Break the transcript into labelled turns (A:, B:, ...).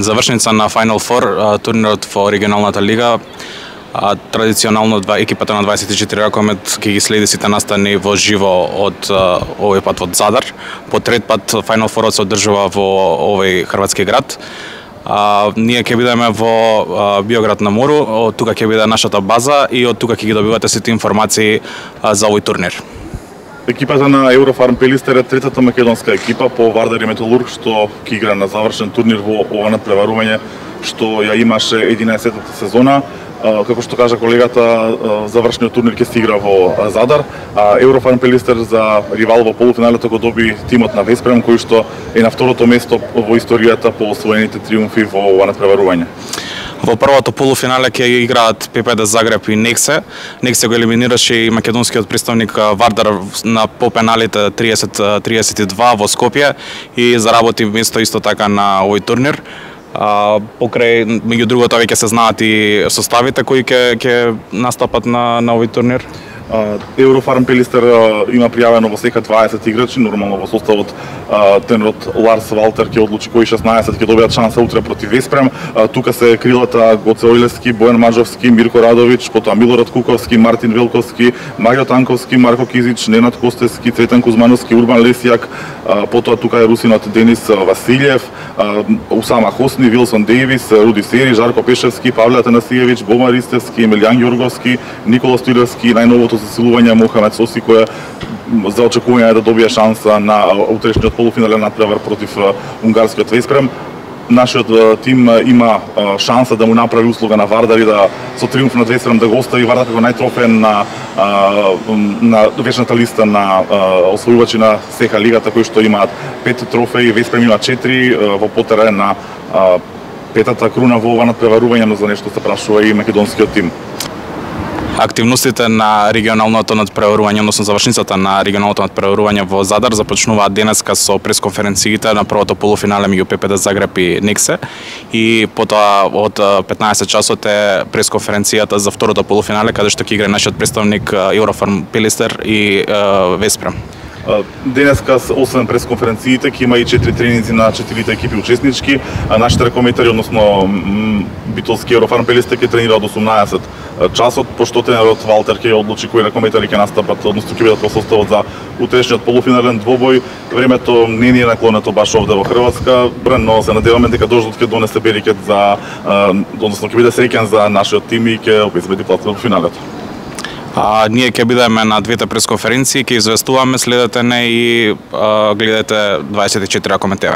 A: Завршница на Final Four, турнирот во регионалната лига. Традиционално екипата на 24 ракомет ќе ги следи сите настани во живо од овој пат од Задар. По трет пат Final Four се одржува во овој хрватски град. Ние ќе бидеме во Биоград на мору, од тука ќе биде нашата база и од тука ќе ги добивате сите информации за овој турнир.
B: Екипата на Еврофарм Пелистер е третата македонска екипа по Вардар и Металург што ќе игра на завршен турнир во ова надпреварување што ја имаше 11-та сезона. Како што кажа колегата, завршниот турнир ќе се игра во Задар, а Еврофарм Пелистер за ривал во полуфиналето го доби тимот на Веспрем, кој што е на второто место во историјата по освоените триумфи во ова надпреварување.
A: Во првото полуфинале ќе играат ППД Загреб и Нексе. Нексе го елиминираше и македонскиот представник Вардар на по пеналите 30-32 во Скопје и заработи место исто така на овој турнир. Покрај, меѓу другото, веќе се знаат и составите кои ќе настапат на овој турнир.
B: Еврофарм Пелистер има пријавено во сека 20 играчи, нормално во составот тренерот Ларс Валтер ќе одлучи кои 16 ќе добијат шанса утре против Веспрем. Тука се крилата Гоце Ојлевски, Бојан Маџовски, Мирко Радовиќ, потоа Милорад Куковски, Мартин Велковски, Марио Танковски, Марко Кизич, Ненад Костевски, Цветан Кузмановски, Урбан Лесијак, потоа тука е русинот Денис Василјев, Усама Хосни, Вилсон Дејвис, Руди Сери, Жарко Пешевски, Павле Атанасиевиќ, Бома Ристевски, Емилијан Ѓорговски, Никола Стоилевски, најновото засилување Мохамед Соси, кој за очекување да добие шанса на утрешниот полуфинален надпревар против унгарскиот Веспрем. Нашиот тим има шанса да му направи услуга на Вардар и да со триумф над Веспрем да го остави Вардар како најтрофеен на вечната листа на освојувачи на СЕХА лигата, кои што имаат 5 трофеи, Веспрем има 4 во потера на петата круна во ова надпреварување, но за нешто се прашува и македонскиот тим.
A: Активностите на регионалното надпреварување, односно завршницата на регионалното надпреварување во Задар започнуваат денеска со пресконференциите на првото полуфинале меѓу ППД Загреб и Нексе и потоа од 15 часот е пресконференцијата за второто полуфинале каде што ќе игра нашиот представник Еврофарм Пелистер и Веспрем.
B: Денеска, освен пресконференциите, ќе има и 4 тренинзи на 4 екипи учеснички. Нашите ракометари, односно битолски Еврофарм Пелистер ќе тренира од 18 часот, пошто тренерот Валтер ќе одлучи кои ракометари ќе настапат, односно ќе бидат во составот за утрешниот полуфинален двобој. Времето не ни е наклонето баш овде во Хрватска, но се надеваме дека дождот ќе донесе берикет за, односно ќе биде среќен за нашиот тим и ќе обезбеди плацот во финалето.
A: Ние ќе бидеме на двете пресконференции, ќе известуваме, следете не и гледате 24 ракомет ТВ.